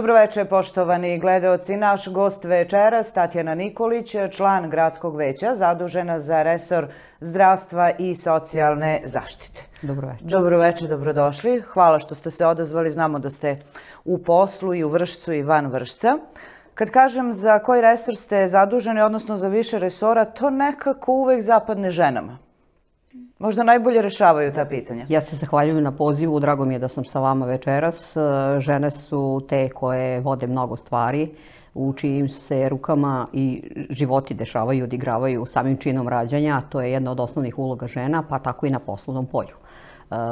Dobroveče, poštovani gledaoci. Naš gost večeras, Tatjana Nikolić, član Gradskog veća, zadužena za resor zdravstva i socijalne zaštite. Dobroveče. Dobroveče, dobrodošli. Hvala što ste se odazvali. Znamo da ste u poslu i u Vršcu i van Vršca. Kad kažem za koji resor ste zaduženi, odnosno za više resora, to nekako uvek zapadne ženama. Možda najbolje rešavaju ta pitanja. Ja se zahvaljujem na pozivu, drago mi je da sam sa vama večeras. Žene su te koje vode mnogo stvari, u čijim se rukama i životi dešavaju, odigravaju samim činom rađanja. To je jedna od osnovnih uloga žena, pa tako i na poslovnom polju.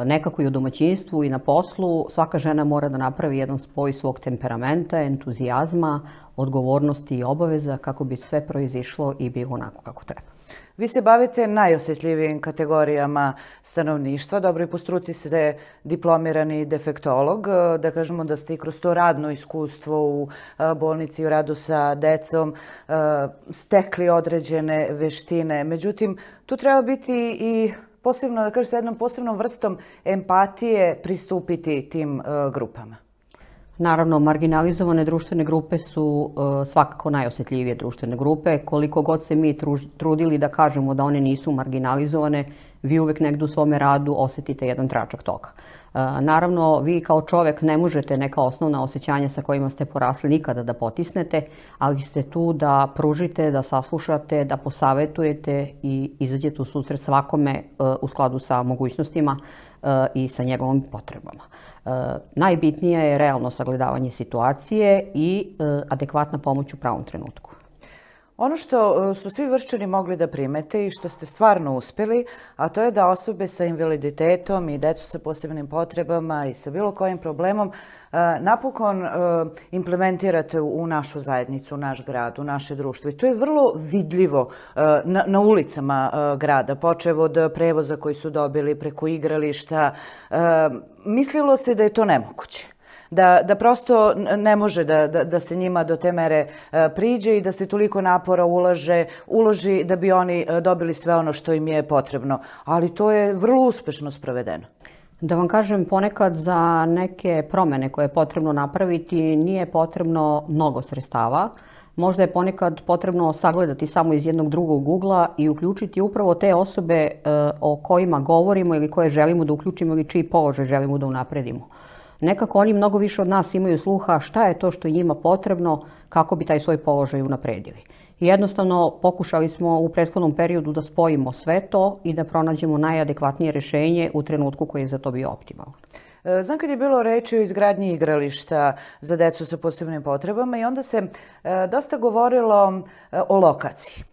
Nekako i u domaćinstvu i na poslu svaka žena mora da napravi jedan spoj svog temperamenta, entuzijazma, odgovornosti i obaveza kako bi sve proizišlo i bilo onako kako treba. Vi se bavite najosjetljivijim kategorijama stanovništva. Dobro, i po struci ste diplomirani defektolog. Da kažemo da ste i kroz to radno iskustvo u bolnici i u radu sa decom stekli određene veštine. Međutim, tu treba biti i posebno, da kažem, sa jednom posebnom vrstom empatije pristupiti tim grupama. Naravno, marginalizovane društvene grupe su svakako najosjetljivije društvene grupe. Koliko god se mi trudili da kažemo da one nisu marginalizovane, vi uvek negdje u svome radu osjetite jedan tračak toga. Naravno, vi kao čovjek ne možete neka osnovna osjećanja sa kojima ste porasli nikada da potisnete, ali ste tu da pružite, da saslušate, da posavetujete i izađete u susret svakome u skladu sa mogućnostima i sa njegovim potrebama. Najbitnije je realno sagledavanje situacije i adekvatna pomoć u pravom trenutku. Ono što su svi Vrščani mogli da primete i što ste stvarno uspjeli, a to je da osobe sa invaliditetom i decu sa posebnim potrebama i sa bilo kojim problemom napokon implementirate u našu zajednicu, u naš grad, u naše društvo. I to je vrlo vidljivo na ulicama grada, počev od prevoza koji su dobili preko igrališta. Mislilo se da je to nemoguće. Da prosto ne može da se njima do te mere priđe i da se toliko napora uloži da bi oni dobili sve ono što im je potrebno. Ali to je vrlo uspešno sprovedeno. Da vam kažem, ponekad za neke promjene koje je potrebno napraviti nije potrebno mnogo sredstava. Možda je ponekad potrebno sagledati samo iz jednog drugog ugla i uključiti upravo te osobe o kojima govorimo ili koje želimo da uključimo ili čiji položaj želimo da unapredimo. Nekako oni mnogo više od nas imaju sluha šta je to što je njima potrebno kako bi taj svoj položaj unapredili. I jednostavno pokušali smo u prethodnom periodu da spojimo sve to i da pronađemo najadekvatnije rješenje u trenutku koji je za to bio optimalan. Znam kad je bilo reči o izgradnji igrališta za decu sa posebnim potrebama i onda se dosta govorilo o lokaciji.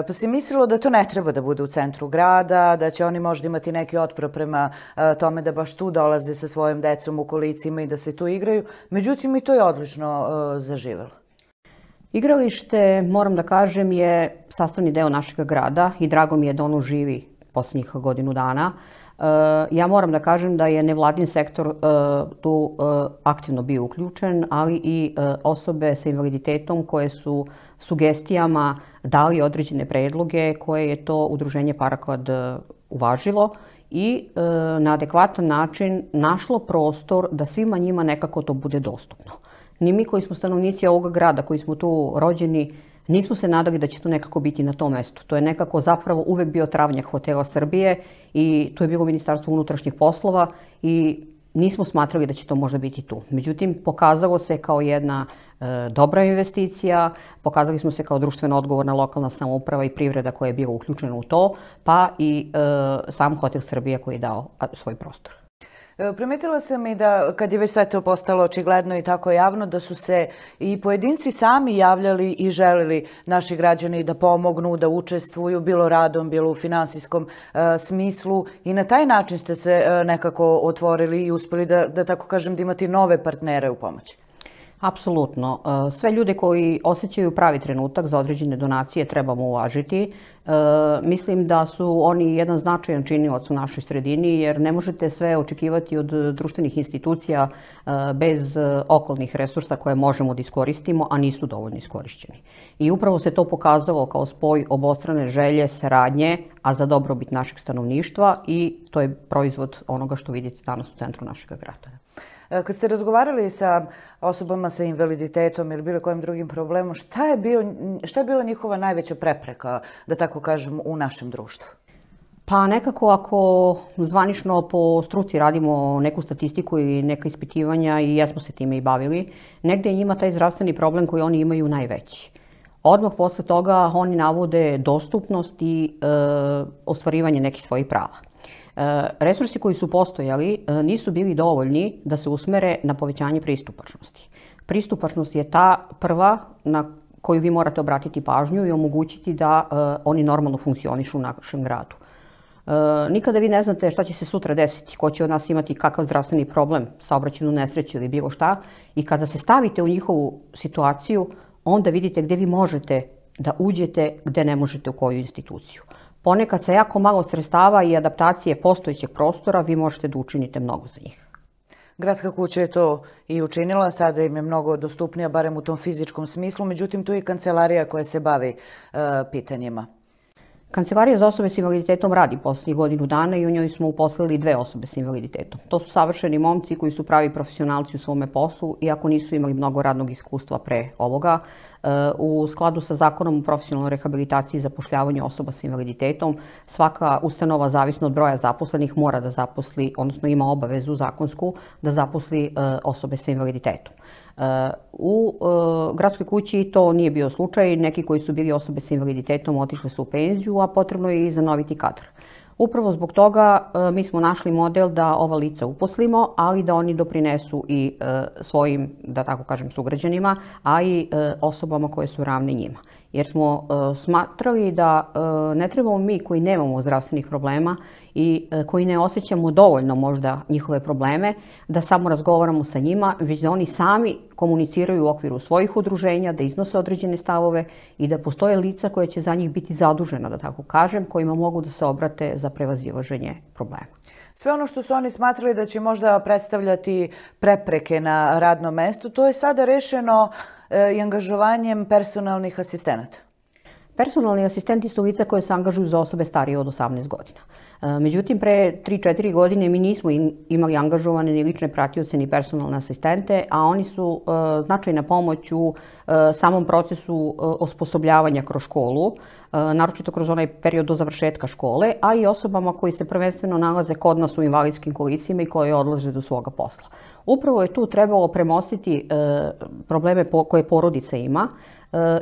Pa se mislilo da to ne treba da bude u centru grada, da će oni možda imati neki otpor prema tome da baš tu dolaze sa svojim decom u kolicima i da se tu igraju. Međutim, i to je odlično zaživelo. Igralište, moram da kažem, je sastavni deo našeg grada i drago mi je da ono živi posljednjih godinu dana. Ja moram da kažem da je nevladin sektor tu aktivno bio uključen, ali i osobe sa invaliditetom koje su sugestijama dali određene predloge koje je to udruženje Paraklad uvažilo i na adekvatan način našlo prostor da svima njima nekako to bude dostupno. Ni mi koji smo stanovnici ovog grada, koji smo tu rođeni, nismo se nadali da će to nekako biti na tom mestu. To je nekako zapravo uvek bio travnjak Hotela Srbije i tu je bilo Ministarstvo unutrašnjih poslova i nismo smatrali da će to možda biti tu. Međutim, pokazalo se kao jedna dobra investicija, pokazali smo se kao društveno odgovorna lokalna samouprava i privreda koja je bila uključena u to, pa i sam Hotel Srbije koji je dao svoj prostor. Primetila sam i da, kad je već sve to postalo očigledno i tako javno, da su se i pojedinci sami javljali i želili naši građani da pomognu, da učestvuju, bilo radom, bilo u finansijskom smislu i na taj način ste se nekako otvorili i uspjeli da tako kažem, da imate nove partnere u pomoći. Apsolutno. Sve ljude koji osjećaju pravi trenutak za određene donacije trebamo uvažiti. Mislim da su oni jedan značajan činilac u našoj sredini jer ne možete sve očekivati od društvenih institucija bez okolnih resursa koje možemo da iskoristimo, a nisu dovoljno iskorišćeni. I upravo se to pokazalo kao spoj obostrane želje, saradnje, a za dobrobit našeg stanovništva i to je proizvod onoga što vidite danas u centru našeg grada. Kad ste razgovarali sa osobama sa invaliditetom ili bilo kojim drugim problemom, šta je bila njihova najveća prepreka, da tako kažem, u našem društvu? Pa nekako ako zvanično po struci radimo neku statistiku i neka ispitivanja i jesmo se time i bavili, negdje je njima taj zdravstveni problem koji oni imaju najveći. Odmah posle toga oni navode dostupnost i ostvarivanje nekih svojih prava. Resursi koji su postojali nisu bili dovoljni da se usmere na povećanje pristupačnosti. Pristupačnost je ta prva na koju vi morate obratiti pažnju i omogućiti da oni normalno funkcionišu u našem gradu. Nikada vi ne znate šta će se sutra desiti, ko će od nas imati kakav zdravstveni problem, saobraćajnu nesreću ili bilo šta. I kada se stavite u njihovu situaciju, onda vidite gdje vi možete da uđete, gdje ne možete u koju instituciju. Ponekad sa jako malo sredstava i adaptacije postojećeg prostora vi možete da učinite mnogo za njih. Gradska kuća je to i učinila, sada im je mnogo dostupnija, barem u tom fizičkom smislu, međutim tu je i kancelarija koja se bavi pitanjima. Kancelarija za osobe s invaliditetom radi posljednjih godinu dana i u njoj smo uposlili 2 osobe s invaliditetom. To su savršeni momci koji su pravi profesionalci u svome poslu, iako nisu imali mnogo radnog iskustva pre ovoga. U skladu sa Zakonom o profesionalnoj rehabilitaciji i zapošljavanju osoba s invaliditetom, svaka ustanova, zavisno od broja zaposlenih, mora da zaposli, odnosno ima obavezu zakonsku da zaposli osobe sa invaliditetom. U gradskoj kući to nije bio slučaj. Neki koji su bili osobe sa invaliditetom otišli su u penziju, a potrebno je i zanoviti kadar. Upravo zbog toga mi smo našli model da ova lica uposlimo, ali da oni doprinesu i svojim, da tako kažem, sugrađanima, a i osobama koje su ravne njima. Jer smo smatrali da ne trebamo mi koji nemamo zdravstvenih problema i koji ne osjećamo dovoljno možda njihove probleme, da samo razgovaramo sa njima, već da oni sami komuniciraju u okviru svojih udruženja, da iznose određene stavove i da postoje lica koje će za njih biti zadužena, da tako kažem, kojima mogu da se obrate za prevazilaženje problema. Sve ono što su oni smatrali da će možda predstavljati prepreke na radnom mestu, to je sada rešeno i angažovanjem personalnih asistenata. Personalni asistenti su lica koje se angažuju za osobe starije od 18 godina. Međutim, pre 3-4 godine mi nismo imali angažovane ni lične pratioce ni personalne asistente, a oni su značajna pomoć u samom procesu osposobljavanja kroz školu, naročito kroz onaj period do završetka škole, a i osobama koji se prvenstveno nalaze kod nas u invalidskim kolicima i koje odlaze do svoga posla. Upravo je tu trebalo premostiti probleme koje porodica ima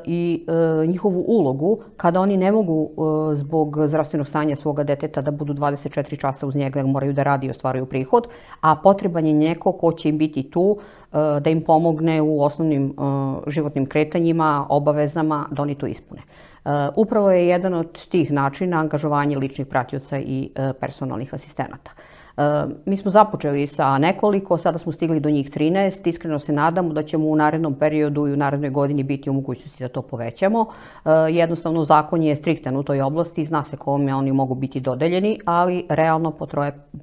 i njihovu ulogu kada oni ne mogu zbog zdravstvenog stanja svoga deteta da budu 24 časa uz njega jer moraju da radi i ostvaruju prihod, a potreban je neko ko će im biti tu da im pomogne u osnovnim životnim kretanjima, obavezama da oni to ispune. Upravo je jedan od tih načina angažovanje ličnih pratioca i personalnih asistenata. Mi smo započeli sa nekoliko, sada smo stigli do njih 13. Iskreno se nadamo da ćemo u narednom periodu i u narednoj godini biti u mogućnosti da to povećamo. Jednostavno, zakon je striktan u toj oblasti, zna se kome oni mogu biti dodeljeni, ali realno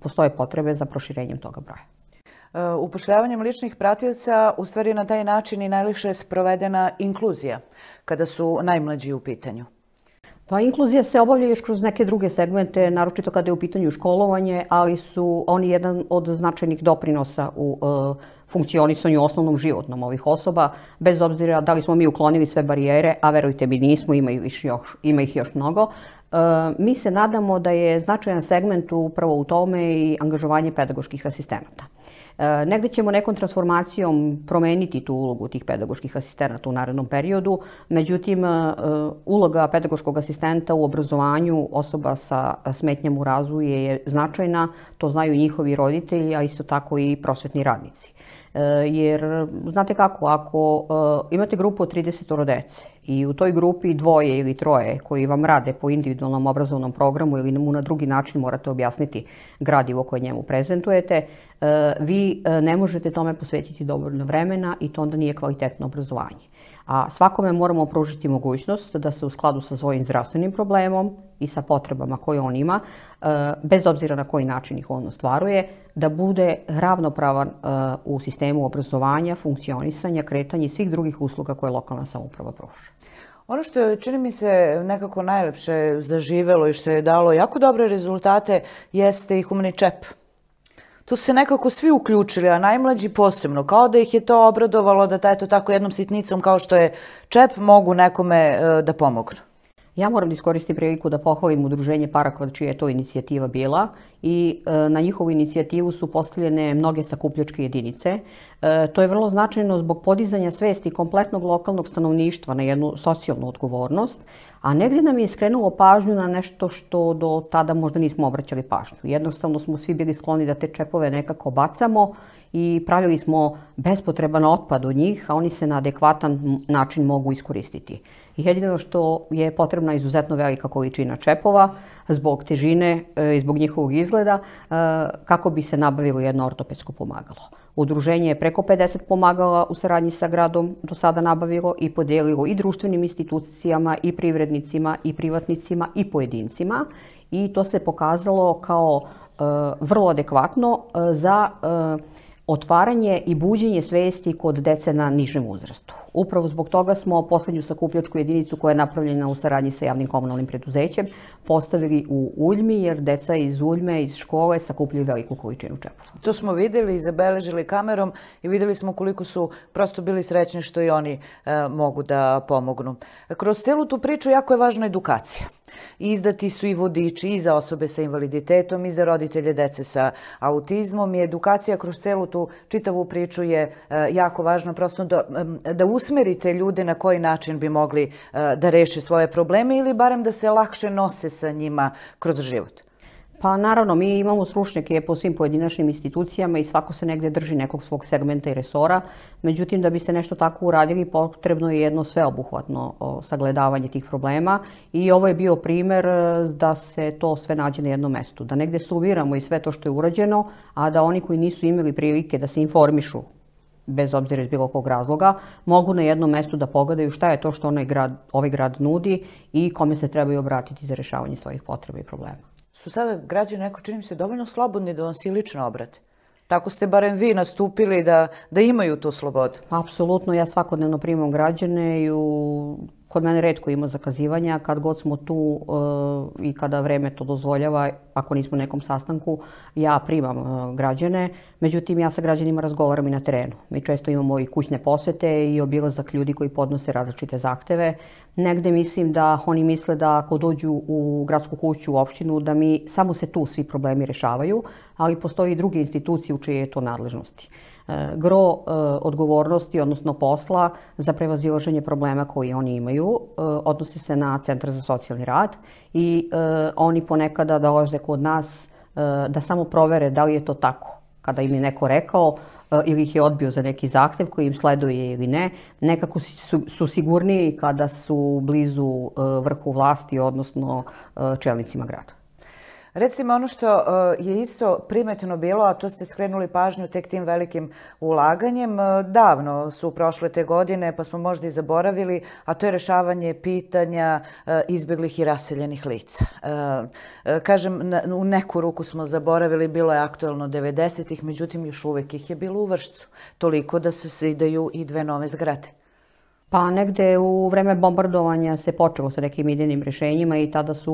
postoje potrebe za proširenjem toga broja. Upošljavanjem ličnih pratioca u stvari na taj način i najlakše je sprovedena inkluzija kada su najmlađi u pitanju. Pa inkluzija se obavlja još kroz neke druge segmente, naročito kada je u pitanju školovanje, ali su oni jedan od značajnih doprinosa u funkcionisanju osnovnom životnom ovih osoba, bez obzira da li smo mi uklonili sve barijere, a verujte mi nismo, ima ih još mnogo. Mi se nadamo da je značajan segment upravo u tome i angažovanje pedagoških asistenata. Negde ćemo nekom transformacijom promeniti tu ulogu tih pedagoških asistenata u narednom periodu, međutim uloga pedagoškog asistenta u obrazovanju osoba sa smetnjama u razvoju je značajna, to znaju njihovi roditelji, a isto tako i prosvetni radnici. Jer, znate kako, ako imate grupu od 30 dece i u toj grupi 2 ili 3 koji vam rade po individualnom obrazovnom programu ili mu na drugi način morate objasniti gradivo koje njemu prezentujete, vi ne možete tome posvetiti dovoljno vremena i to onda nije kvalitetno obrazovanje. A svakome moramo pružiti mogućnost da se u skladu sa svojim zdravstvenim problemom i sa potrebama koje on ima, bez obzira na koji način ih on ostvaruje, da bude ravnopravan u sistemu obrazovanja, funkcionisanja, kretanja i svih drugih usluga koje lokalna samouprava pruža. Ono što je, čini mi se, nekako najlepše zaživelo i što je dalo jako dobre rezultate jeste i humani čep. Tu su se nekako svi uključili, a najmlađi posebno, kao da ih je to obradovalo da eto tako jednom sitnicom kao što je čep mogu nekome da pomognu. Ja moram da iskoristim priliku da pohvalim udruženje Parakvat, čija je to inicijativa bila, i na njihovu inicijativu su postavljene mnoge sakupljačke jedinice. To je vrlo značajno zbog podizanja svesti kompletnog lokalnog stanovništva na jednu socijalnu odgovornost, a negdje nam je skrenulo pažnju na nešto što do tada možda nismo obraćali pažnju. Jednostavno smo svi bili skloni da te čepove nekako bacamo i pravili smo bespotreban otpad od njih, a oni se na adekvatan način mogu iskoristiti. Jedino što je potrebna izuzetno velika količina čepova zbog težine i zbog njihovog izgleda kako bi se nabavilo jedno ortopedsko pomagalo. Udruženje je preko 50 pomagala u saradnji sa gradom do sada nabavilo i podijelilo i društvenim institucijama, i privrednicima, i privatnicima, i pojedincima. I to se pokazalo kao vrlo adekvatno za otvaranje i buđenje svesti kod dece na nižem uzrastu. Upravo zbog toga smo poslednju sakupljačku jedinicu koja je napravljena u saradnji sa javnim komunalnim preduzećem postavili u Uljmi, jer deca iz Uljme, iz škole sakupljaju veliku količinu čepova. To smo videli i zabeležili kamerom i videli smo koliko su prosto bili srećni što i oni mogu da pomognu. Kroz celu tu priču jako je važna edukacija. Izdati su i vodiči i za osobe sa invaliditetom i za roditelje dece sa autizmom i edukacija kroz celu tu čitavu priču je jako važna prosto da usmerite ljude na koji način bi mogli da reše svoje probleme ili barem da se lakše nose sa njima kroz život. Pa naravno, mi imamo stručnjake po svim pojedinačnim institucijama i svako se negdje drži nekog svog segmenta i resora. Međutim, da biste nešto tako uradili, potrebno je jedno sveobuhvatno sagledavanje tih problema i ovo je bio primer da se to sve nađe na jednom mestu. Da negdje suviramo i sve to što je urađeno, a da oni koji nisu imali prilike da se informišu bez obzira iz bilo kog razloga, mogu na jednom mestu da pogledaju šta je to što ovaj grad nudi i kome se trebaju obratiti za rešavanje svojih potreba i problema. Su sada građani, neko čini mi se, dovoljno slobodni da vam se lično obrate? Tako ste barem vi nastupili da imaju tu slobodu? Apsolutno, ja svakodnevno primam građane i kod mene retko ima zakazivanja. Kad god smo tu i kada vreme to dozvoljava, ako nismo u nekom sastanku, ja primam građane. Međutim, ja sa građanima razgovaram i na terenu. Mi često imamo i kućne posete i obilazak ljudi koji podnose različite zahteve. Negde mislim da oni misle da ako dođu u gradsku kuću, u opštinu, da mi samo se tu svi problemi rešavaju, ali postoji i druge institucije u čije je to nadležnosti. Gro odgovornosti, odnosno posla za prevazilaženje problema koji oni imaju, odnosi se na Centar za socijalni rad i oni ponekada dolaze kod nas da samo provere da li je to tako. Kada im je neko rekao ili ih je odbio za neki zahtev koji im sleduje ili ne, nekako su sigurniji kada su blizu vrhu vlasti, odnosno čelnicima grada. Recite mi ono što je isto primetno bilo, a to ste skrenuli pažnju tek tim velikim ulaganjem. Davno su prošle te godine, pa smo možda i zaboravili, a to je rešavanje pitanja izbjeglih i raseljenih lica. Kažem, u neku ruku smo zaboravili, bilo je aktuelno 90-ih, međutim još uvek ih je bilo u Vršcu. Toliko da se zidaju i 2 nove zgrade. Pa negde u vreme bombardovanja se počelo sa nekim idejnim rešenjima i tada su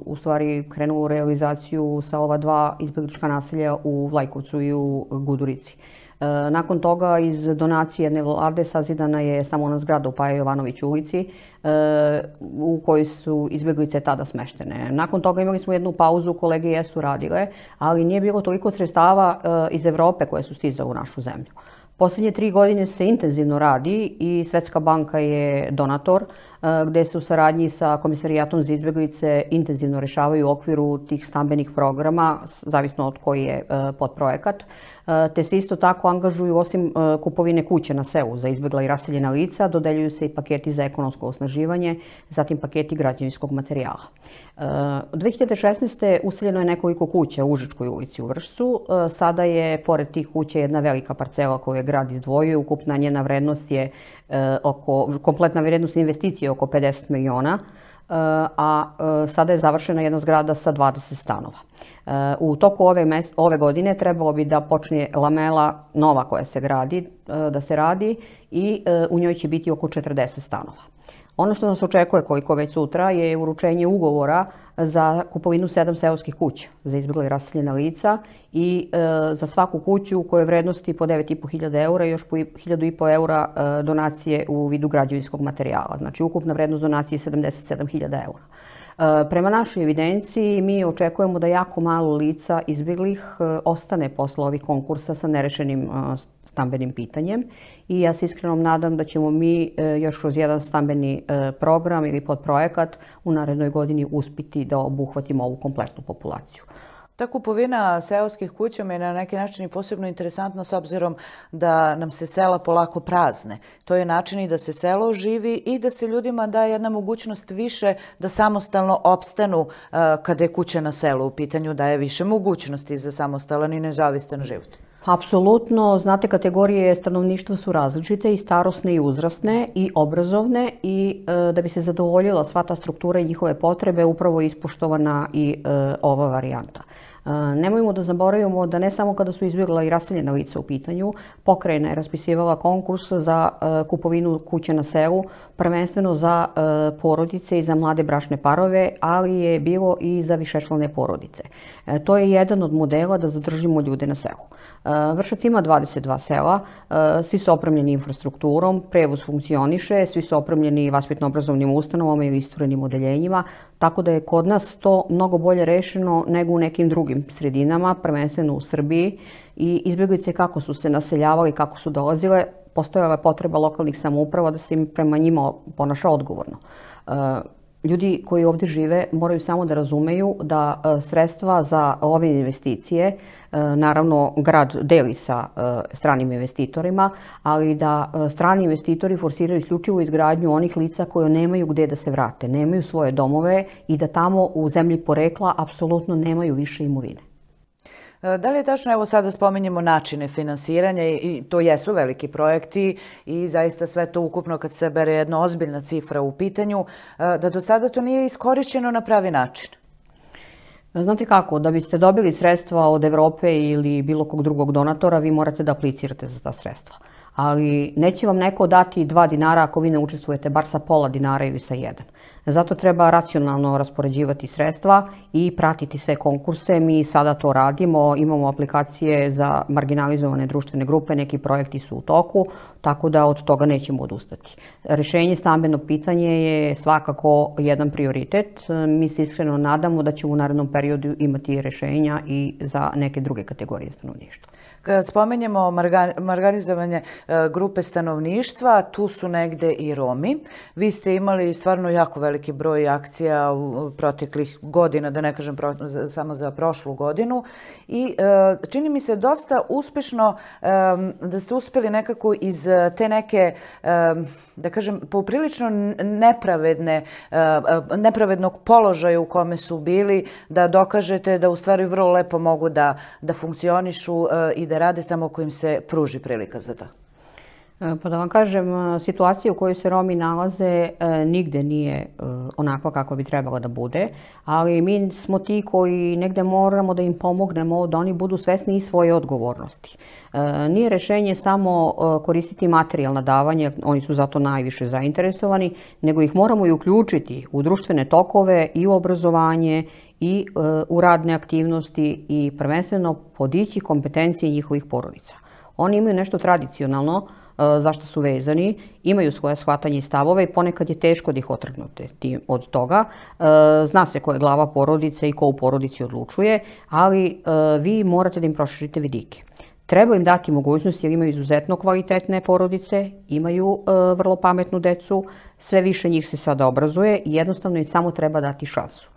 u stvari krenuli u realizaciju sa ova 2 izbjeglička naselja u Vlajkovcu i u Gudurici. Nakon toga iz donacije jedne vlade sazidana je samo ona zgrada u Paja Jovanović ulici u kojoj su izbjeglice tada smeštene. Nakon toga imali smo jednu pauzu, kolege jesu radile, ali nije bilo toliko sredstava iz Evrope koje su stizale u našu zemlju. Poslednje 3 godine se intenzivno radi i Svetska banka je donator, gde se u saradnji sa Komisarijatom za izbjeglice intenzivno rešavaju u okviru tih stambenih programa, zavisno od koji je podprojekat, te se isto tako angažuju osim kupovine kuće na selu za izbjegla i raseljena lica, dodeljuju se i paketi za ekonomsko osnaživanje, zatim paketi građevinskog materijala. 2016. useljeno je nekoliko kuća u Užičkoj ulici u Vršcu. Sada je, pored tih kuća, jedna velika parcela koju je grad izdvojio. Ukupna njena vrednost je kompletna vrednost investicije oko 50 miliona, a sada je završena jedna zgrada sa 20 stanova. U toku ove godine trebalo bi da počne lamela nova koja se gradi, da se radi i u njoj će biti oko 40 stanova. Ono što nas očekuje, koliko već sutra, je uručenje ugovora za kupovinu 7 seoskih kuća za izbjegla i raseljena lica i za svaku kuću u kojoj je vrednosti po 9.500 eura i još po 1.500 eura donacije u vidu građevinskog materijala. Znači, ukupna vrednost donacije je 77.000 eura. Prema našoj evidenciji mi očekujemo da jako malo lica izbjeglih ostane posle ovih konkursa sa nerešenim stambenim pitanjem i ja se iskreno nadam da ćemo mi još kroz jedan stambeni program ili podprojekat u narednoj godini uspjeti da obuhvatimo ovu kompletnu populaciju. Ta kupovina seoskih kuća je na neki način i posebno interesantna s obzirom da nam se sela polako prazne. To je način i da se selo oživi i da se ljudima da jedna mogućnost više da samostalno opstanu kada je kuća na selu u pitanju, daje više mogućnosti za samostalan i nezavistan život. Apsolutno, znate, kategorije stanovništva su različite i starosne i uzrasne i obrazovne i da bi se zadovoljila sva ta struktura i njihove potrebe upravo je ispoštovana i ova varijanta. Nemojmo da zaboravimo da ne samo kada su izbjegla i raseljena lica u pitanju, pokrajina je raspisivala konkurs za kupovinu kuće na selu, prvenstveno za porodice i za mlade bračne parove, ali je bilo i za višečlane porodice. To je jedan od modela da zadržimo ljude na selu. Vršac ima 22 sela, svi su opremljeni infrastrukturom, prevoz funkcioniše, svi su opremljeni vaspitno-obrazovnim ustanovama ili isturenim odeljenjima, tako da je kod nas to mnogo bolje rešeno nego u nekim drugim sredinama, prvenstveno u Srbiji, i izbjeglice kako su se naseljavali, kako su dolazile, postojala je potreba lokalnih samouprava da se im prema njima ponaša odgovorno. Ljudi koji ovdje žive moraju samo da razumeju da sredstva za ove investicije, naravno grad deli sa stranim investitorima, ali da strani investitori forsiraju isključivo izgradnju onih lica koje nemaju gdje da se vrate, nemaju svoje domove i da tamo u zemlji porekla apsolutno nemaju više imovine. Da li je tačno, evo sada spominjemo načine finansiranja i to jesu veliki projekti i zaista sve to ukupno kad se bere jedna ozbiljna cifra u pitanju, da do sada to nije iskorišćeno na pravi način? Znate kako, da biste dobili sredstva od Evrope ili bilo kog drugog donatora, vi morate da aplicirate za ta sredstva. Ali neće vam neko dati 2 dinara ako vi ne učestvujete bar sa pola dinara ili sa 1. Zato treba racionalno raspoređivati sredstva i pratiti sve konkurse. Mi sada to radimo, imamo aplikacije za marginalizovane društvene grupe, neki projekti su u toku, tako da od toga nećemo odustati. Rešenje stambenog pitanja je svakako jedan prioritet. Mi se iskreno nadamo da ćemo u narednom periodu imati rešenja i za neke druge kategorije stanovništva. Kada spomenjemo marginalizovanje grupe stanovništva, tu su negde i Romi. Vi ste imali stvarno jako veliki broj akcija u proteklih godina, da ne kažem samo za prošlu godinu. I čini mi se dosta uspešno da ste uspeli nekako iz te neke, da kažem, poprilično nepravednog položaja u kome su bili, da dokažete da u stvari vrlo lepo mogu da funkcionišu i da rade samo ako im se pruži prilika za to. Pa da vam kažem, situacija u kojoj se Romi nalaze nigde nije onakva kako bi trebala da bude, ali mi smo ti koji negde moramo da im pomognemo da oni budu svesni i svoje odgovornosti. Nije rešenje samo koristiti materijalna davanja, oni su zato najviše zainteresovani, nego ih moramo i uključiti u društvene tokove i u obrazovanje i u radne aktivnosti i prvenstveno podići kompetencije njihovih porodica. Oni imaju nešto tradicionalno zašto su vezani, imaju svoje shvatanje i stavove i ponekad je teško da ih otrgnuti od toga. Zna se ko je glava porodice i ko u porodici odlučuje, ali vi morate da im proširite vidike. Treba im dati mogućnost jer imaju izuzetno kvalitetne porodice, imaju vrlo pametnu decu, sve više njih se sada obrazuje i jednostavno im samo treba dati šansu.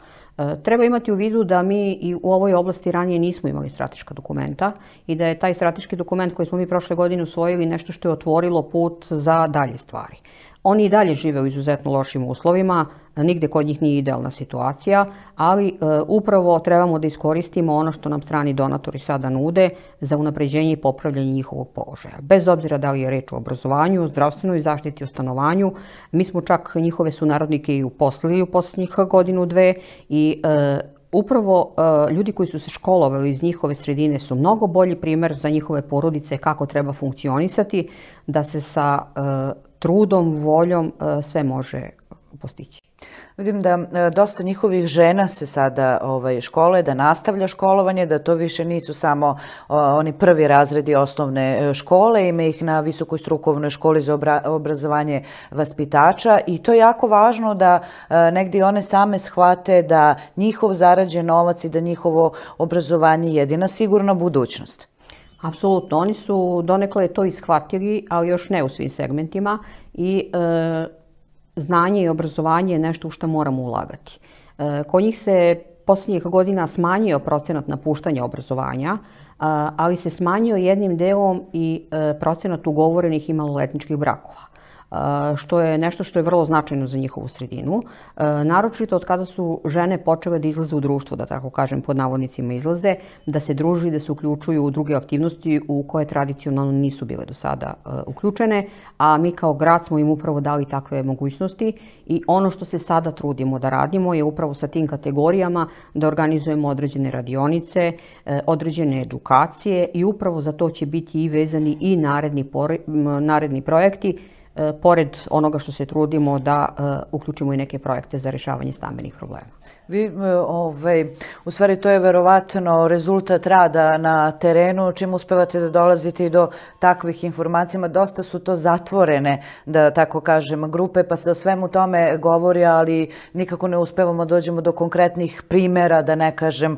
Treba imati u vidu da mi i u ovoj oblasti ranije nismo imali strateška dokumenta i da je taj strateški dokument koji smo mi prošle godine usvojili nešto što je otvorilo put za dalje stvari. Oni i dalje žive u izuzetno lošim uslovima, nigde kod njih nije idealna situacija, ali upravo trebamo da iskoristimo ono što nam strani donatori sada nude za unapređenje i popravljanje njihovog položaja. Bez obzira da li je reč o obrazovanju, zdravstvenoj zaštiti, o stanovanju, mi smo čak njihove sunarodnike i uposlili u posljednjih godinu, dve i upravo ljudi koji su se školovali iz njihove sredine su mnogo bolji primer za njihove porodice kako treba funkcionisati, da se sa trudom, voljom sve može postići. Vidim da dosta njihovih žena se sada škole, da nastavlja školovanje, da to više nisu samo oni prvi razredi osnovne škole, ima ih na Visokoj strukovnoj školi za obrazovanje vaspitača i to je jako važno da negdje one same shvate da njihov zarađen novac i da njihovo obrazovanje je jedina sigurna budućnost. Apsolutno, oni su donekle to ishvatili, ali još ne u svim segmentima i znanje i obrazovanje je nešto u što moramo ulagati. Kod njih se posljednjih godina smanjio procenat napuštanja obrazovanja, ali se smanjio jednim delom i procenat ugovorenih i maloletničkih brakova, što je nešto što je vrlo značajno za njihovu sredinu. Naročito od kada su žene počele da izlaze u društvo, da tako kažem, pod navodnicima izlaze, da se druži, da se uključuju u druge aktivnosti u koje tradicionalno nisu bile do sada uključene, a mi kao grad smo im upravo dali takve mogućnosti i ono što se sada trudimo da radimo je upravo sa tim kategorijama da organizujemo određene radionice, određene edukacije i upravo za to će biti i vezani i naredni projekti, pored onoga što se trudimo da uključimo i neke projekte za rješavanje stambenih problema. U stvari to je verovatno rezultat rada na terenu, čim uspevate da dolazite i do takvih informacija. Dosta su to zatvorene, da tako kažem, grupe, pa se o svemu tome govori, ali nikako ne uspevamo dođemo do konkretnih primjera, da ne kažem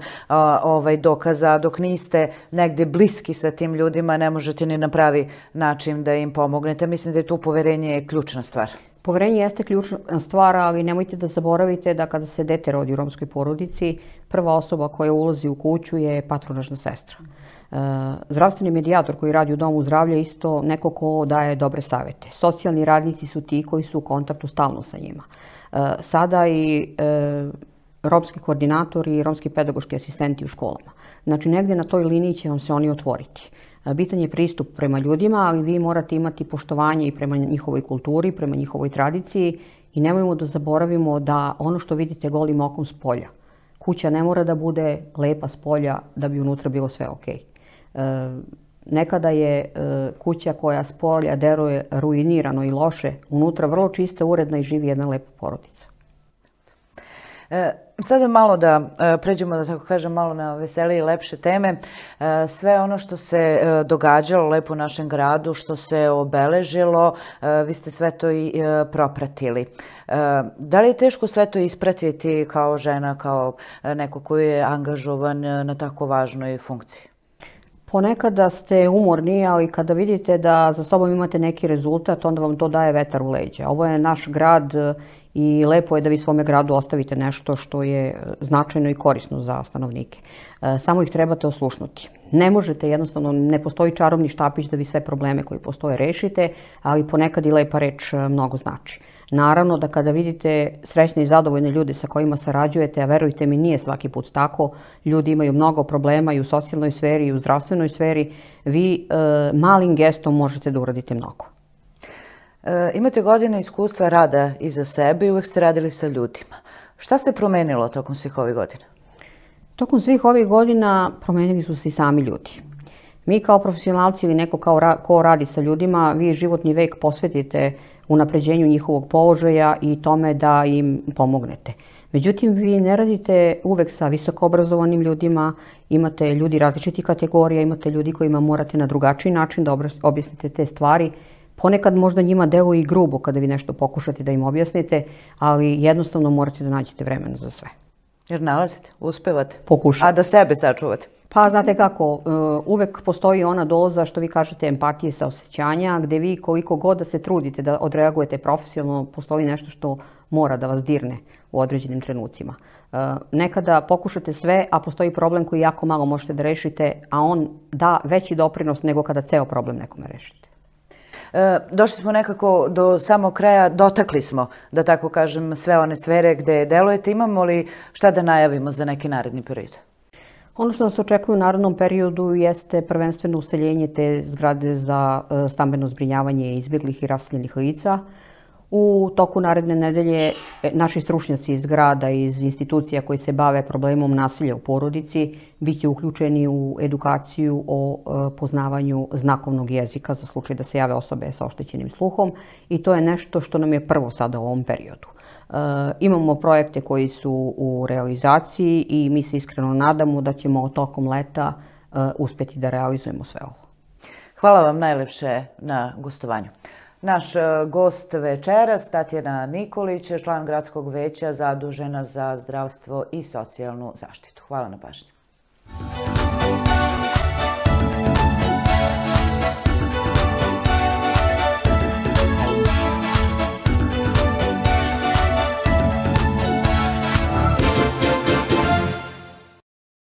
dokaza. Dok niste negdje bliski sa tim ljudima, ne možete ni na pravi način da im pomognete. Mislim da je tu poverenje ključna stvar. Poverenje jeste ključna stvar, ali nemojte da zaboravite da kada se dete rodi u romskoj porodici, prva osoba koja ulazi u kuću je patronažna sestra. Zdravstveni medijator koji radi u domu zdravlja je isto neko ko daje dobre savjete. Socijalni radnici su ti koji su u kontaktu stalno sa njima. Sada i romski koordinatori i romski pedagoški asistenti u školama. Znači negdje na toj liniji će vam se oni otvoriti. Bitan je pristup prema ljudima, ali vi morate imati poštovanje i prema njihovoj kulturi, prema njihovoj tradiciji i nemojmo da zaboravimo da ono što vidite golim okom s polja. Kuća ne mora da bude lepa s polja da bi unutra bilo sve ok. Nekada je kuća koja s polja deluje ruinirano i loše, unutra vrlo čista, uredna i živi jedna lepa porodica. Sada malo da pređemo, da tako kažem, malo na veselije i lepše teme. Sve ono što se događalo lepo u našem gradu, što se obeležilo, vi ste sve to i propratili. Da li je teško sve to ispratiti kao žena, kao neko koji je angažovan na tako važnoj funkciji? Ponekada ste umorni, ali kada vidite da za sobom imate neki rezultat, onda vam to daje vetar u leđa. Ovo je naš grad i lepo je da vi svome gradu ostavite nešto što je značajno i korisno za stanovnike. Samo ih trebate oslušnuti. Ne možete, jednostavno, ne postoji čarobni štapić da vi sve probleme koji postoje rešite, ali ponekad i lepa reč mnogo znači. Naravno da kada vidite srećne i zadovoljne ljude sa kojima sarađujete, a verujte mi nije svaki put tako, ljudi imaju mnogo problema i u socijalnoj sferi i u zdravstvenoj sferi, vi malim gestom možete da uradite mnogo. Imate godine iskustva rada iza sebe i uvek ste radili sa ljudima. Šta se promenilo tokom svih ovih godina? Tokom svih ovih godina promenili su se i sami ljudi. Mi kao profesionalci ili neko ko radi sa ljudima, vi životni vek posvetite unapređenju njihovog položaja i tome da im pomognete. Međutim, vi ne radite uvek sa visoko obrazovanim ljudima, imate ljudi različitih kategorija, imate ljudi kojima morate na drugačiji način da objasnite te stvari. Ponekad možda njima deluje i grubo kada vi nešto pokušate da im objasnite, ali jednostavno morate da nađete vremena za sve. Jer nalazite, uspevate, Pokušate. A da sebe sačuvate. Pa znate kako, uvek postoji ona doza što vi kažete empatije, saosećanja, gde vi koliko god da se trudite da odreagujete profesionalno, postoji nešto što mora da vas dirne u određenim trenucima. Nekada pokušate sve, a postoji problem koji jako malo možete da rešite, a on da veći doprinos nego kada ceo problem nekome rešite. Došli smo nekako do samog kraja, dotakli smo, da tako kažem, sve one sfere gde delujete. Imamo li šta da najavimo za neki naredni period? Ono što nas očekuje u narednom periodu jeste prvenstveno useljenje te zgrade za stambeno zbrinjavanje izbjeglih i raseljenih lica. U toku naredne nedelje naši stručnjaci iz grada i iz institucija koji se bave problemom nasilja u porodici bit će uključeni u edukaciju o poznavanju znakovnog jezika za slučaj da se jave osobe sa oštećenim sluhom i to je nešto što nam je prvo sada u ovom periodu. Imamo projekte koji su u realizaciji i mi se iskreno nadamo da ćemo tokom leta uspjeti da realizujemo sve ovo. Hvala vam najlepše na gostovanju. Naš gost večeras, Tatjana Nikolić, član gradskog veća zadužena za zdravstvo i socijalnu zaštitu. Hvala na pažnji.